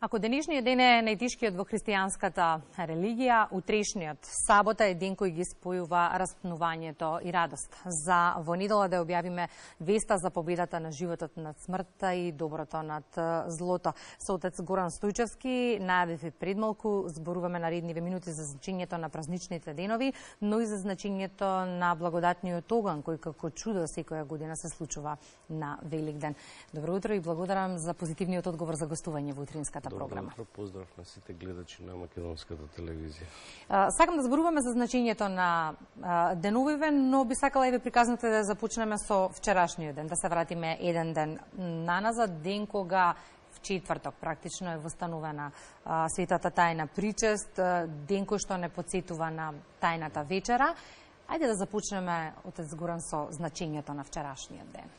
Ако денешниот ден е најтешкиот во христијанската религија, утрешниот сабота е ден кој ги спојува распнувањето и радост. За во недела да објавиме веста за победата на животот над смртта и доброто над злото. Со отец Горан Стојчевски најавив пред малку, зборуваме наредниве минути за значењето на празничните денови, но и за значењето на благодатниот оган кој како чудо секоја година се случува на Великден. Добро утро и благодарам за позитивниот одговор за гостување во утринската програма. Добро, поздрав на сите гледачи на македонската телевизија. Сакам да зборуваме за значењето на деновиве, но би сакала и ве приказнете да започнеме со вчерашниот ден, да се вратиме еден ден наназад, ден кога в четврток практично е востановена светата тајна причест, ден кој што не потсетува на тајната вечера. Ајде да започнеме, отец Горан, со значењето на вчерашниот ден.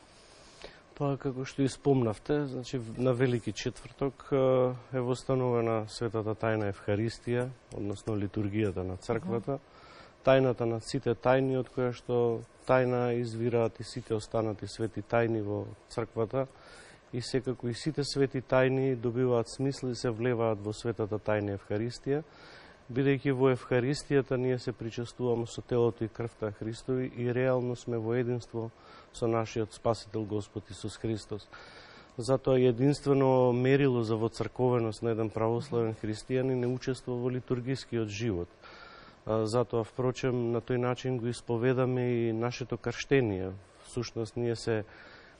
Па, како што и спомнавте, значи, на Велики четврток е востановена светата тајна Евхаристија, односно литургијата на црквата, тајната на сите тајни, од која што тајна извираат и сите останати свети тајни во црквата, и секако и сите свети тајни добиваат смисла и се влеваат во светата тајна Евхаристија, бидејќи во Евхаристијата ние се причестуваме со телото и крвта Христови и реално сме во единство со нашиот Спасител Господ Исус Христос. Затоа единствено мерило за воцрковеност на еден православен христијанин не учества во литургискиот живот. Затоа, впрочем, на тој начин го исповедаме и нашето крштение. Всушност, ние се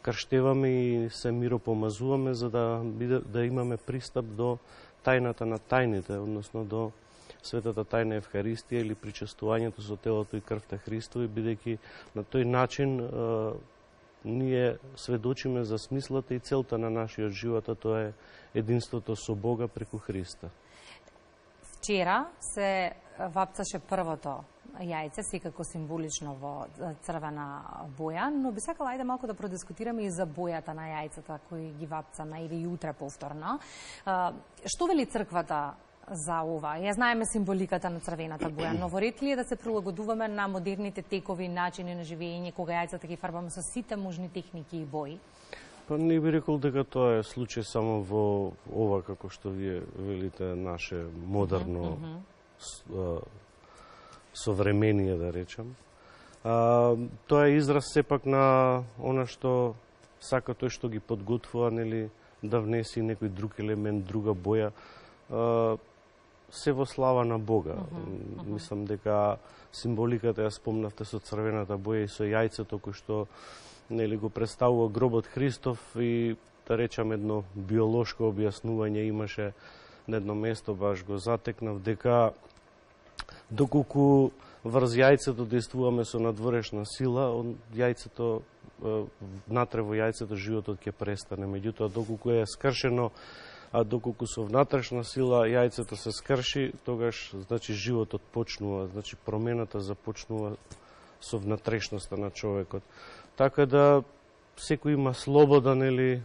крштеваме и се миропомазуваме за да имаме пристап до тајната на тајните, односно до светата тајна Евхаристија или причестувањето со телото и крвта Христови, бидејќи на тој начин ние сведочиме за смислата и целта на нашиот живот, а тоа е единството со Бога преку Христа. Вчера се вапцаше првото јајце, секако символично во црвена боја, но би сакала ајде малку да продискутираме и за бојата на јајцата кои ги вапцаме и утре повторно. Што вели црквата за ова? Ја знаеме символиката на црвената боја, но во ред ли е да се прилагодуваме на модерните текови начини на живење, кога јајцата ги фарбаме со сите можни техники и бои? Па не би рекол дека тоа е случај само во ова, како што вие велите, наше модерно современие, да речам. Тоа е израз сепак на она што сака тој што ги подготвува, нели, да внеси некој друг елемент, друга боја, се во слава на Бога. Мислам дека символиката ја спомнавте со црвената боја и со јајцето кој што, нели, го представува гробот Христов и, да речам, едно биолошко објаснување имаше на едно место, баш го затекнав, дека доколку врз јајцето действуваме со надворешна сила, јајцето, внатре во јајцето животот ќе престане. Меѓутоа, доколку е скршено, а доколку со внатрешна сила јајцето се скрши, тогаш, значи, животот почнува, значи, промената започнува со внатрешноста на човекот. Така да, секој има слобода, нели,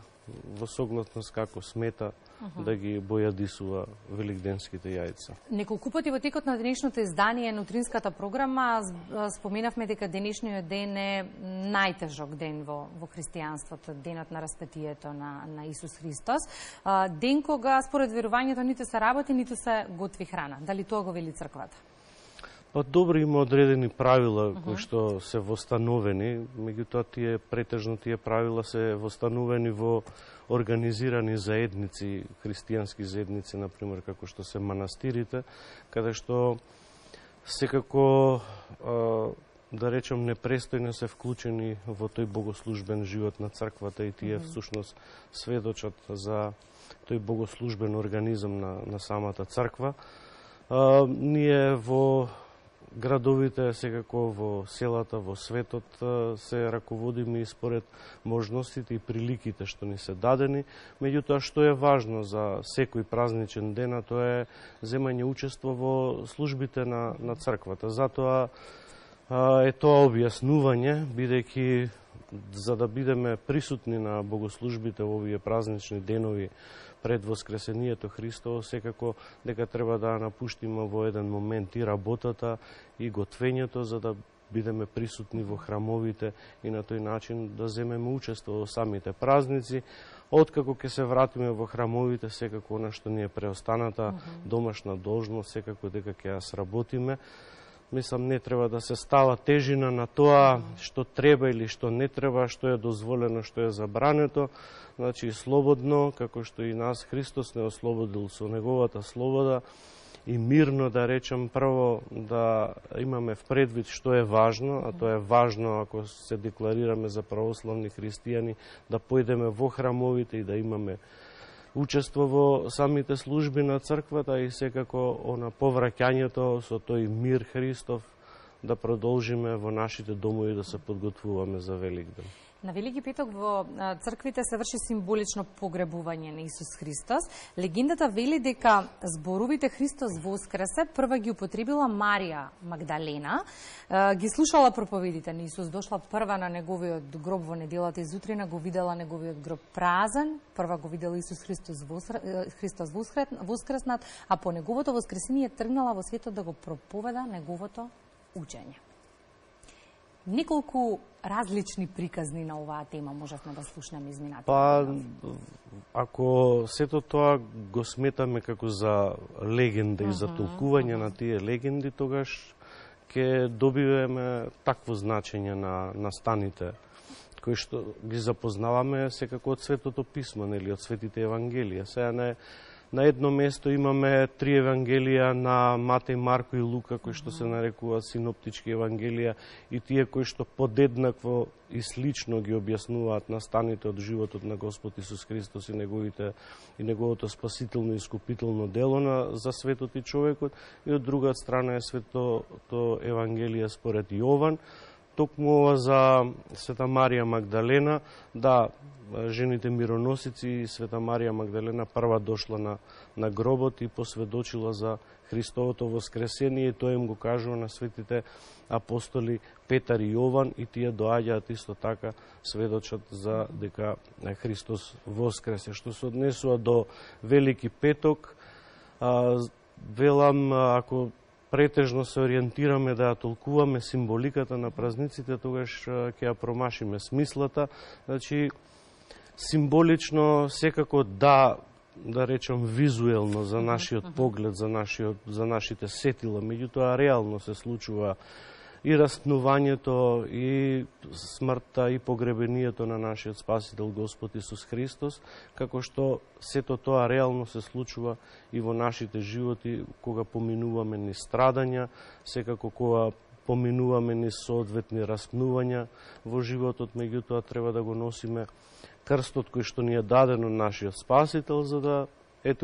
во согласност како смета, да ги бојадисува великденските јајца. Неколку пати во текот на денешното издание на утринската програма споменавме дека денешниот ден е најтежок ден во христијанството, денот на распетието на Исус Христос. Ден кога според верувањето ниту се работи, ниту се готви храна. Дали тоа го вели црквата? Па добро, има одредени правила кои што се востановени, меѓутоа претежно тие правила се востановени во организирани заедници, христијански заедници, например, како што се манастирите, каде што секако, да речем, непрестојно се вклучени во тој богослужбен живот на црквата и тие всушност сведочат за тој богослужбен организам на самата црква. Ние во градовите, секако во селата, во светот, се раководиме и според можностите и приликите што ни се дадени. Меѓутоа, што е важно за секој празничен ден, тоа е земање учество во службите на црквата. Затоа е тоа објаснување, бидејќи за да бидеме присутни на богослужбите во овие празнични денови пред Воскресението Христово, секако дека треба да напуштиме во еден момент и работата, и готвењето, за да бидеме присутни во храмовите и на тој начин да земеме учество во самите празници, Откако ќе се вратиме во храмовите, секако она што ни е преостаната домашна должност, секако дека ќе ја сработиме. Мислам, не треба да се става тежина на тоа што треба или што не треба, што е дозволено, што е забрането. Значи, слободно, како што и нас Христос не ослободил со неговата слобода, и мирно, да речем, прво да имаме в предвид што е важно, а тоа е важно ако се декларираме за православни христијани, да појдеме во храмовите и да имаме учество во самите служби на црквата и секако на повраќањето со тој мир Христов да продолжиме во нашите домови да се подготвуваме за Великден. На Велики петок во црквите се врши символично погребување на Исус Христос. Легендата вели дека зборовите Христос воскресе прва ги употребила Марија Магдалена. Ги слушала проповедите на Исус, дошла прва на неговиот гроб во неделата изутрина, го видела неговиот гроб празен, прва го видела Исус Христос воскреснат, а по неговото воскресение тргнала во светот да го проповеда неговото учење. Неколку различни приказни на оваа тема можевме да слушнеме изминатите. Па, ако сето тоа го сметаме како за легенда и за толкување на тие легенди, тогаш ќе добиваме такво значење на станите кои што ги запознаваме секако од Светото писмо, нели, од Светите Евангелија. Сега на едно место имаме 3 евангелија на Матеј, Марко и Лука, кои што се нарекуваат синоптички евангелија, и тие кои што подеднакво и слично ги објаснуваат настаните од животот на Господ Исус Христос и неговото спасително и искупително дело за светот и човекот, и од друга страна е Светото евангелие според Јован. Токму ова за Света Марија Магдалена, да, жените мироносици и Света Марија Магдалена прва дошла на гробот и посведочила за Христовото воскресение, и тоа им го кажува на светите апостоли Петар и Јован, и тие доаѓаат исто така сведочат за дека Христос воскресе. Што се однесува до Велики петок, велам, ако претежно се ориентираме да ја толкуваме символиката на празниците, тогаш ќе ја промашиме смислата. Значи, символично секако да речем визуелно за нашиот поглед, за нашите сетила, меѓутоа реално се случува и распнувањето, и смртта, и погребението на нашиот Спасител Господ Исус Христос, како што сето тоа реално се случува и во нашите животи, кога поминуваме ни страдања, секако кога поминуваме ни соодветни распнувања во животот, меѓутоа треба да го носиме крстот кој што ни е даден од нашиот Спасител, за да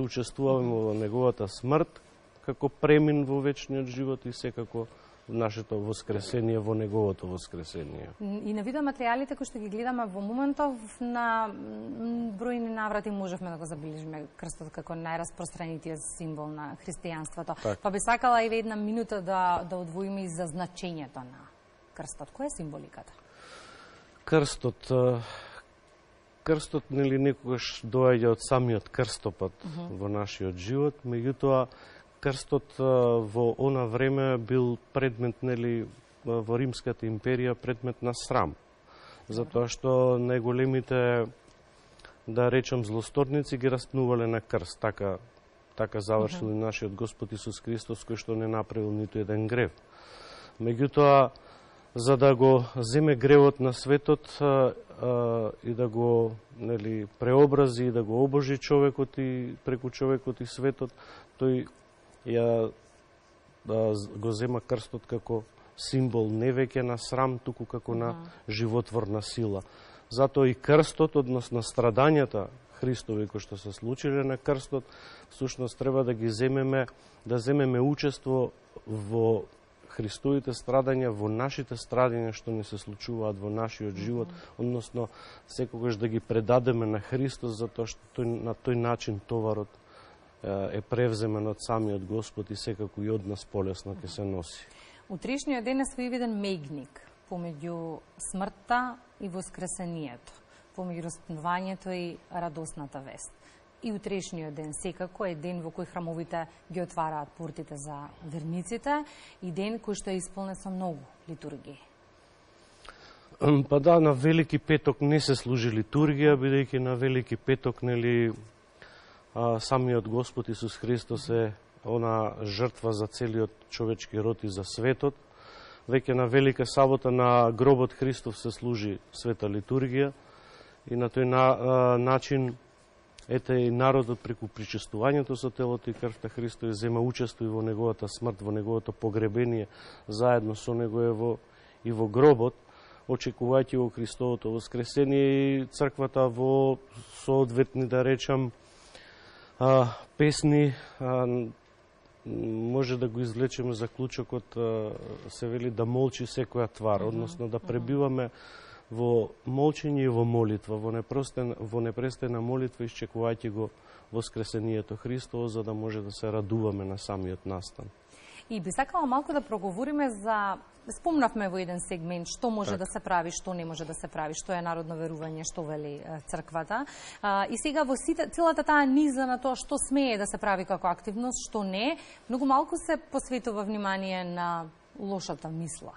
учествуваме во неговата смрт, како премин во вечниот живот и секако нашето воскресение во неговото воскресение. И на видеоматеријалите кои што ги гледаме во моментов, на бројни наврати можевме да го забележиме крстот како најраспространетиот символ на христијанството. Так. Па би сакала и една минута да одвоиме и за значењето на крстот. Која е символиката? Крстот нели некогаш доаѓа од самиот крстопат во нашиот живот, меѓутоа крстот во она време бил предмет, нели, во Римската империја, предмет на срам. Затоа што најголемите, да речем, злосторници ги распнувале на крст. Така завршил и нашиот Господ Исус Христос, кој што не направил ниту еден грев. Меѓутоа, за да го земе гревот на светот и да го, нели, преобрази и да го обожи човекот и преку човекот и светот, тој го зема крстот како символ не веќе на срам, туку како на животворна сила. Затоа и крстот, односно страдањата Христови кои што се случиле на крстот, всушност треба да ги земеме учество во Христовите страдања, во нашите страдања што ни се случуваат во нашиот живот, односно секогаш да ги предадеме на Христос, затоа што на тој начин товарот е превземен од самиот Господ и секако и од нас полесно ќе се носи. Утрешниот ден е своевиден меѓник помеѓу смртта и воскресението, помеѓу распнувањето и радосната вест. И утрешниот ден секако е ден во кој храмовите ги отвараат портите за верниците и ден кој што е исполнет со многу литургии. Па да, на Велики петок не се служи литургија, бидејќи на Велики петок, нели, самиот Господ Исус Христос е она жртва за целиот човечки род и за светот. Веќе на Велика сабота на гробот Христов се служи света литургија и на тој начин ете и народот преку причестувањето со телото и крвта Христови зема учество и во неговата смрт, во неговото погребение, заедно со него и во гробот, очекувајќи го Христовото воскресение и црквата во соодветни, да речам, песни, може да го извлечеме заклучокот, се вели да молчи секоја твар, односно да пребиваме во молчење и во молитва, во непрестана молитва, исчекувајќи го воскресението Христово, за да може да се радуваме на самиот настан. И би сакала малку да проговориме за... Спомнавме во еден сегмент што може да се прави, што не може да се прави, што е народно верување, што вели црквата. И сега во целата таа низа на тоа што смее да се прави како активност, што не, многу малку се посветува внимание на лошата мисла.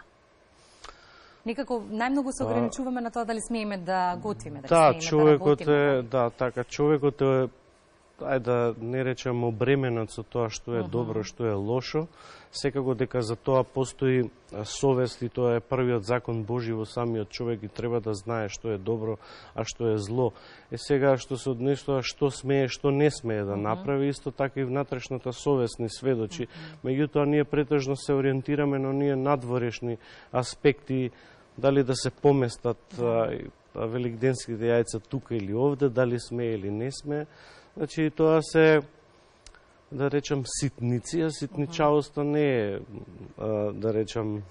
Некако најмногу се ограничуваме на тоа дали смееме да готвиме, дали смееме да работиме. Да, така, човекот е, да не речем, обременат со тоа што е добро, што е лошо. Секако дека за тоа постои совест и тоа е првиот закон Божи во самиот човек и треба да знае што е добро, а што е зло. Сега што се однесува што смее, што не смее да направи, исто така и внатрешната совест ни сведочи. Меѓутоа ние претежно се ориентираме на оние надворешни аспекти, дали да се поместат великденските јајца тука или овде, дали смее или не смее. Значи, тоа се, да речам, ситници, а ситничавоста не е, да речам,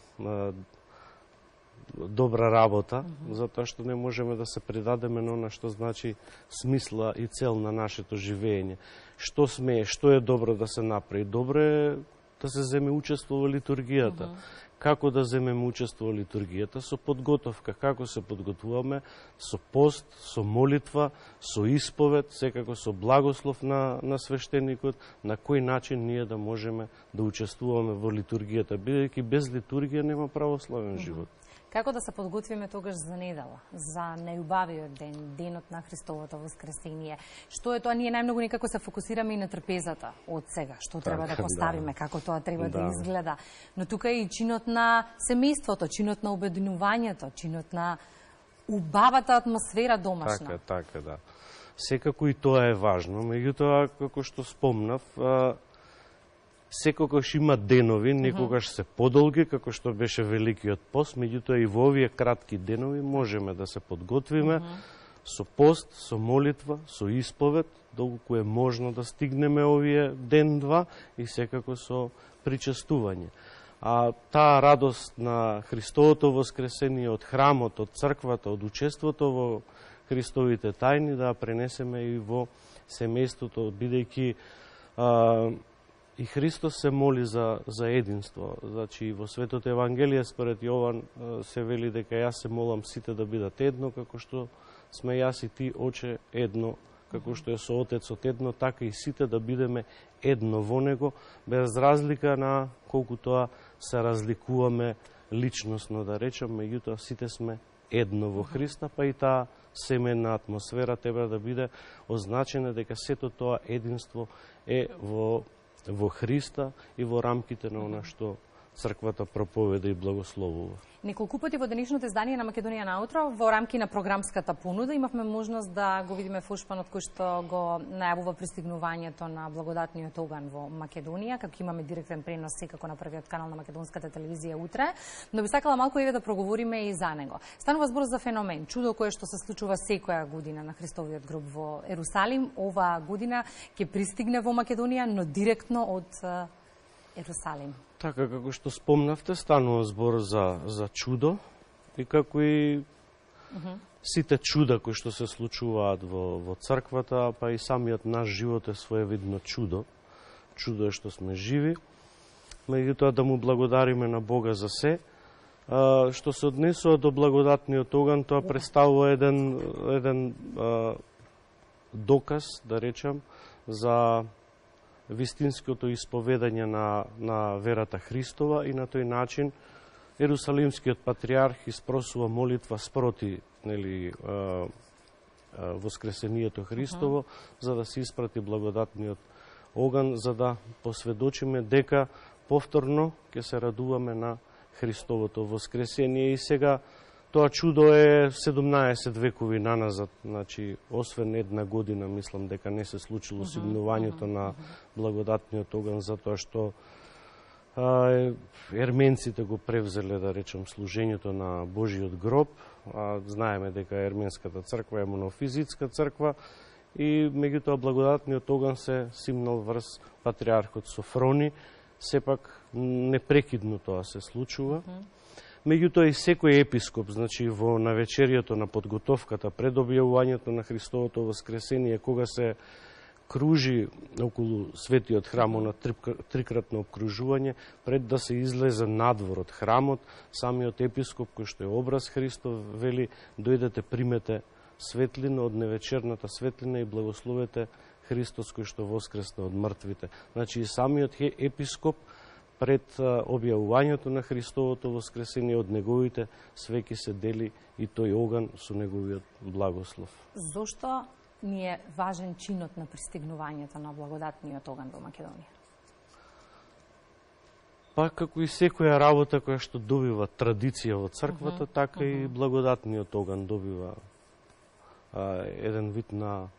добра работа, затоа што не можеме да се предадеме на она што значи смисла и цел на нашето живење. Што смее, што е добро да се направи? Добро е да се земе учество во литургијата. Како да земеме учество во литургијата? Со подготовка. Како се подготвуваме? Со пост, со молитва, со исповед, секако со благослов на свештеникот, на кој начин ние да можеме да учествуваме во литургијата, бидејќи без литургија нема православен живот. Како да се подготвиме тогаш за недела, за најубавиот ден, денот на Христовото воскресение? Што е тоа? Ние најмногу некако се фокусираме и на трпезата од сега, што треба да поставиме, како тоа треба да изгледа. Но тука е и чинот на семејството, чинот на обединувањето, чинот на убавата атмосфера домашна. Така, да. Секако и тоа е важно, меѓутоа, како што спомнав, секогаш има денови, некогаш се подолги, како што беше Великиот пост, меѓутоа и во овие кратки денови можеме да се подготвиме со пост, со молитва, со исповед, доколку е можно да стигнеме овие ден-два и секако со причестување. А таа радост на Христовото воскресение од храмот, од црквата, од учеството во Христовите тајни да пренесеме и во семејството, бидејќи и Христос се моли за единство. Значи, во Светото Евангелие, според Јован, се вели дека јас се молам сите да бидат едно, како што сме јас и ти, Оче, едно, како што е со Отецот едно, така и сите да бидеме едно во Него, без разлика на колку тоа се разликуваме личносно, да речем, меѓутоа сите сме едно во Христа, па и таа семејна атмосфера треба да биде означена дека сето тоа единство е во Христа и во рамките на она што црквата проповеда и благословува. Неколку пати во денешното издание на Македонија наутро, во рамки на програмската понуда, имавме можност да го видиме фуршпанот кој што го најавува пристигнувањето на благодатниот оган во Македонија, како имаме директен пренос секако на првиот канал на македонската телевизија утре, но би сакала малку еве да проговориме и за него. Станува збор за феномен, чудо кое што се случува секоја година на Христовиот гроб во Ерусалим. Оваа година ќе пристигне во Македонија, но директно од Ерусалим. Така, како што спомнавте, станува збор за чудо и како и сите чуда кои што се случуваат во црквата, па и самиот наш живот е своевидно чудо. Чудо е што сме живи, меѓутоа да му благодариме на Бога за се. Што се однесува до благодатниот оган, тоа представува еден доказ, да речам, за вистинското исповедање на верата Христова и на тој начин Ерусалимскиот патриарх испросува молитва спроти, нели, воскресението Христово, за да се испрати благодатниот оган, за да посведочиме дека повторно ќе се радуваме на Христовото воскресение. И сега тоа чудо е 17 векови наназад, значи освен една година, мислам дека не се случило сигнувањето на благодатниот оган, затоа што ерменците го превзеле, да речем, служењето на Божиот гроб. Знаеме дека ерменската црква е монофизитска црква и меѓутоа благодатниот оган се симнал врз патриархот Софрони. Сепак непрекидно тоа се случува. Меѓутоа и секој епископ, значи во навечерието на подготовката пред објавувањето на Христовото воскресение, кога се кружи околу светиот храм на трикратно обкружување, пред да се излезе надвор од храмот, самиот епископ, кој што е образ Христов, вели: дојдете, примете светлина од невечерната светлина и благословете Христос кој што воскресна од мртвите. Значи и самиот епископ пред објавувањето на Христовото воскресение од неговите свеки се дели и тој оган со неговиот благослов. Зошто ни е важен чинот на пристигнувањето на благодатниот оган во Македонија? Па како и секоја работа која што добива традиција во црквата, така и благодатниот оган добива еден вид на,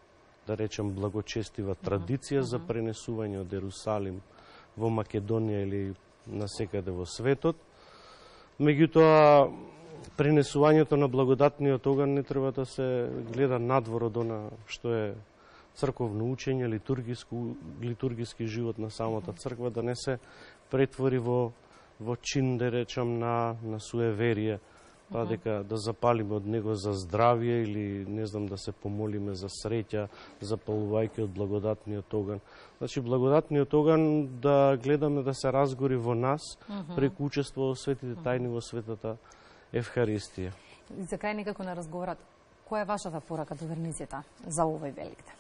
да речем, благочестива традиција за пренесување од Ерусалим во Македонија или насекаде во светот. Меѓутоа, пренесувањето на благодатниот оган не треба да се гледа надвор од она што е црковно учење, литургиски живот на самата црква, да не се претвори во чин, да речам, на суеверие, па дека да запалиме од него за здравје или не знам да се помолиме за среќа, запалувајќи од благодатниот оган. Значи благодатниот оган да гледаме да се разгори во нас преку учество во светите тајни во светата Евхаристија. За крај некако на разговорот, која е вашата порака до верниците за овој Великден?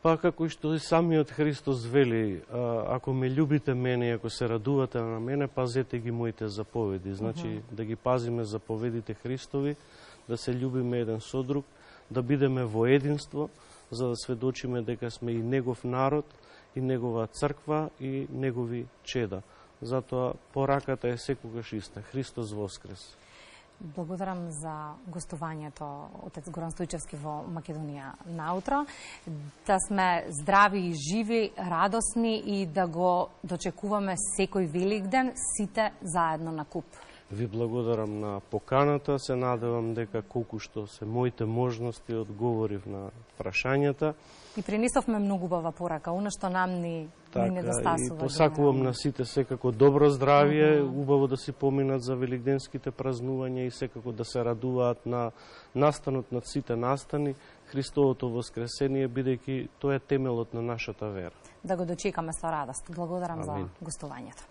Па како што и самиот Христос вели, ако ме љубите мене и ако се радувате на мене, пазете ги моите заповеди. Значи да ги пазиме заповедите Христови, да се љубиме еден со друг, да бидеме во единство, за да сведочиме дека сме и негов народ, и негова црква, и негови чеда. Затоа пораката е секогаш иста. Христос воскрес. Благодарам за гостувањето, отец Горан Стојчевски, во Македонија наутро. Да сме здрави и живи, радосни и да го дочекуваме секој Великден, сите заедно на куп. Ви благодарам на поканата, се надевам дека колку што се моите можности одговорив на прашањата. И пренесовме многу убава порака, она што нам ни недостасува. И посакувам на сите секако добро здравје, убаво да си поминат за великденските празнувања и секако да се радуваат на настанот над сите настани, Христовото воскресение, бидејќи тоа е темелот на нашата вера. Да го дочекаме со радост. Благодарам за гостувањето.